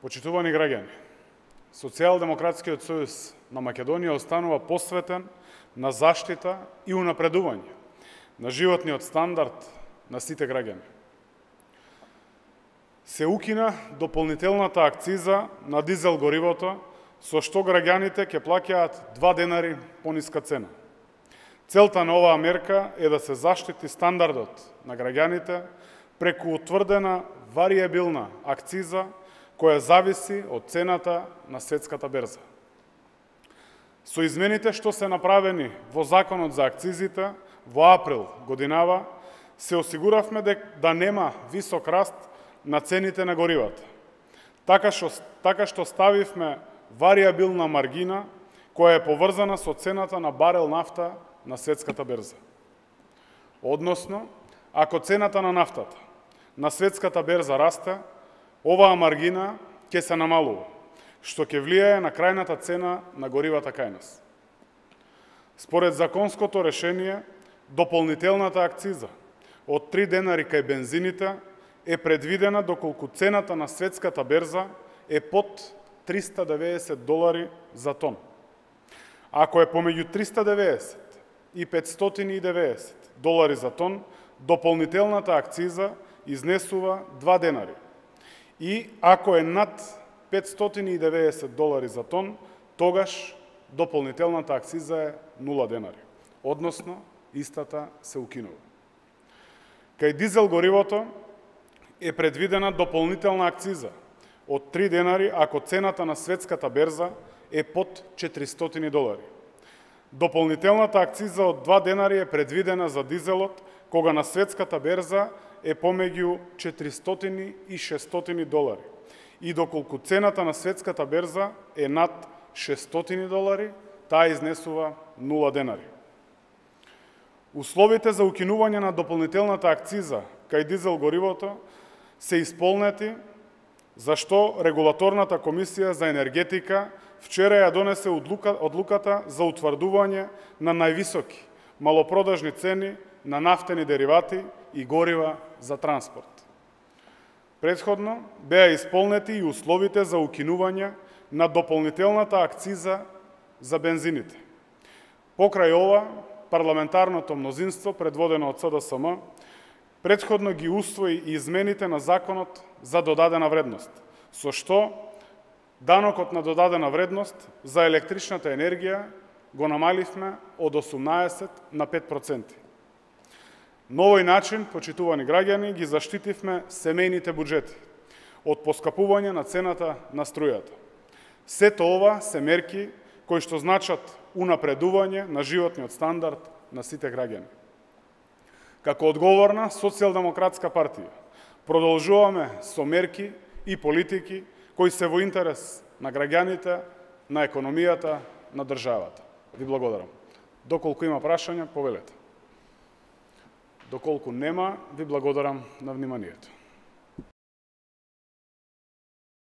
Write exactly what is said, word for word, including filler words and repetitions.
Почитувани граѓани, Социјалдемократскиот сојуз на Македонија останува посветен на заштита и унапредување на животниот стандард на сите граѓани. Се укина дополнителната акциза на дизел горивото, со што граѓаните ќе плаќаат два денари пониска цена. Целта на оваа мерка е да се заштити стандардот на граѓаните преку утврдена варијабилна акциза која зависи од цената на светската берза. Со измените што се направени во Законот за акцизите во април годинава, се осигуравме да нема висок раст на цените на горивата. Така што, така што ставивме варијабилна маргина која е поврзана со цената на барел нафта на светската берза. Односно, ако цената на нафтата на светската берза расте, оваа маргина ќе се намалува, што ќе влијае на крајната цена на горивата кај нас. Според законското решение, дополнителната акциза од три денари кај бензините е предвидена доколку цената на светската берза е под триста деведесет долари за тон. Ако е помеѓу триста деветдесет и петстотини и деветдесет долари за тон, дополнителната акциза изнесува два денари. И ако е над петстотини и деветдесет долари за тон, тогаш дополнителната акциза е нула денари. Односно, истата се укинува. Кај дизел горивото е предвидена дополнителна акциза од три денари ако цената на светската берза е под четиристотини долари. Дополнителната акциза од два денари е предвидена за дизелот кога на светската берза е помеѓу четиристотини и шестстотини долари. И доколку цената на светската берза е над шестстотини долари, таа изнесува нула денари. Условите за укинување на дополнителната акциза кај дизел горивото се исполнети, зашто Регулаторната комисија за енергетика вчера ја донесе одлука, одлуката за утврдување на највисоки малопродажни цени на нафтени деривати и горива за транспорт. Претходно беа исполнети и условите за укинување на дополнителната акциза за бензините. Покрај ова, парламентарното мнозинство, предводено од С Д С М, претходно ги усвои и измените на Законот за додадена вредност, со што данокот на додадена вредност за електричната енергија го намаливме од осумнаесет на пет проценти. На овој начин, почитувани граѓани, ги заштитивме семејните буџети од поскапување на цената на струјата. Сето ова се мерки кои што значат унапредување на животниот стандард на сите граѓани. Како одговорна Социјалдемократска партија продолжуваме со мерки и политики кои се во интерес на граѓаните, на економијата, на државата. Ви благодарам. Доколку има прашања, повелете. Доколку нема, ви благодарам на вниманието.